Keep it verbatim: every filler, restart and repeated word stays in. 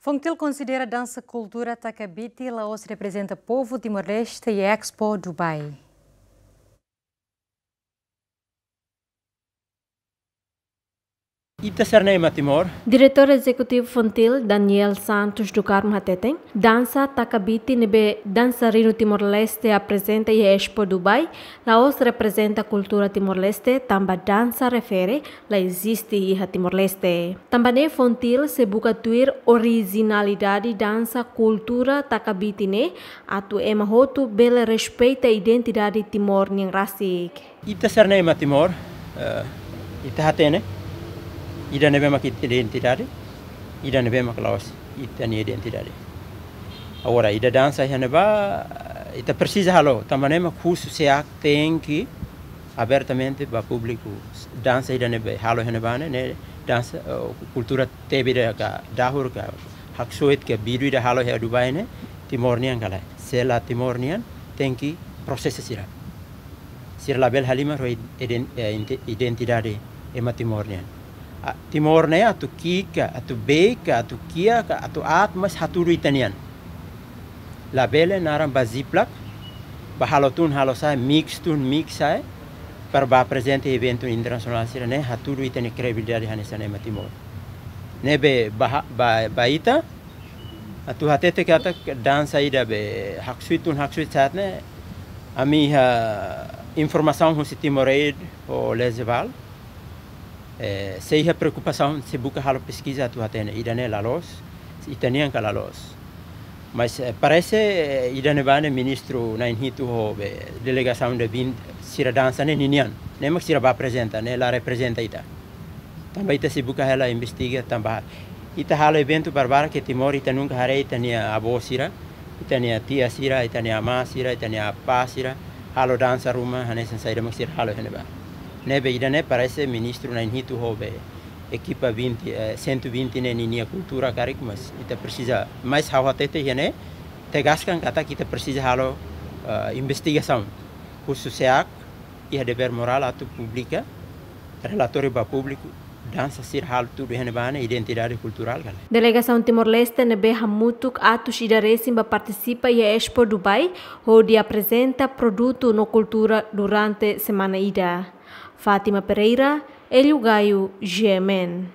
Fontil konsidera dansa kultura Takabiti la'ós reprezenta povu Timor-Leste iha Expo Dubai. Ita sira-ne'e ema Timor. Diretór Ezekutivu Fontil, Daniel Santos do Carmo hateten, dansa Takabiti ne'ebé dansarinu Timor-Leste aprezenta iha Expo Dubai, la'ós reprezenta kultura Timor-Leste, tanba dansa refere la eziste iha Timor-Leste. Tanba ne'e Fontil sei buka tuir orijinalidade dansa kultura Takabiti ne'e, atu ema hotu bele respeita identidade Timor nian rasik. Ita sira-ne'e ema Timor, eh, ita hatene, ida ne'ebé mak ita identidade, ida ne'ebé mak la'ós ita-nia identidade. Agora, ida dansa iha ne'ebá, ita presiza halo, tanba ne'e mak husu SEAC tenke abertamente ba públiku. Dansa ida ne'ebé halo iha ne'ebá ne'e, ne'e dansa, eh, kultura tebe ida ka dahur ka haksoit ka bidu ida halo iha Dubai ne'e, Timor nian ka lae. Se la Timor nian, tenke prosesa sira. Sira labele halimar ho iden-, eh, inte-, identidade ema Timor nian. Ah, Timor ne'e atu ki'ik ka, atu beik ka, atu kiak ka, atu aat, mas hatudu ita-nian. Labele naran ba Ziploc, ba halo tun halo sa'e, mix tun mix sa'e, para ba aprezenta eventu internasionál sira-ne'e, hatudu ita-nia kredibilidade hanesan ema Timor. Ne'ebé ba ha-, ba, ba ita, atu hatete katak dansa ida be haksoit tun haksoit sa'e ne'e, ami iha informasaun husi Timoraid ho Lezeval, eh, sei iha preokupasaun, sei buka halo peskiza atu hatene ida-ne'e la loos, ita-nian ka la loos. Mas, eh, parese, eh, ida ne'ebá ne'e ministru na'in hitu ho be delegasaun de vinte sira dansa ne'e ninian. Ne'e mak sira ba aprezenta, ne'e la reprezenta ita. Tanba ita sei buka hela investiga, tanba ita halo eventu barbarak iha Timor, ita nunka haree ita-nia avó sira, ita-nia tia sira, ita-nia amá sira, ita-nia apá sira halo dansa ruma hanesan saida mak sira halo iha ne'ebá. Ne'ebé ida-ne'e parese ministru na'in hitu ho be ekipa vinte, eh, cento e vinte ne'e ninia kultura karik, mas ita presiza, mas ha'u hatete iha ne'e, tegaskan katak ita presiza halo, eh, investigasaun. Husu SEAC iha dever morál atu publika relatóriu ba públiku, dansa sira halo tudu iha ne'ebá ne'e identidade kulturál ka lae. Delegasaun Timor-Leste ne'ebé hamutuk atus ida resin ba partisipa iha Expo Dubai, hodi aprezenta produtu no kultura durante semana ida. Fátima Pereira, Hélio Gaio, G M N.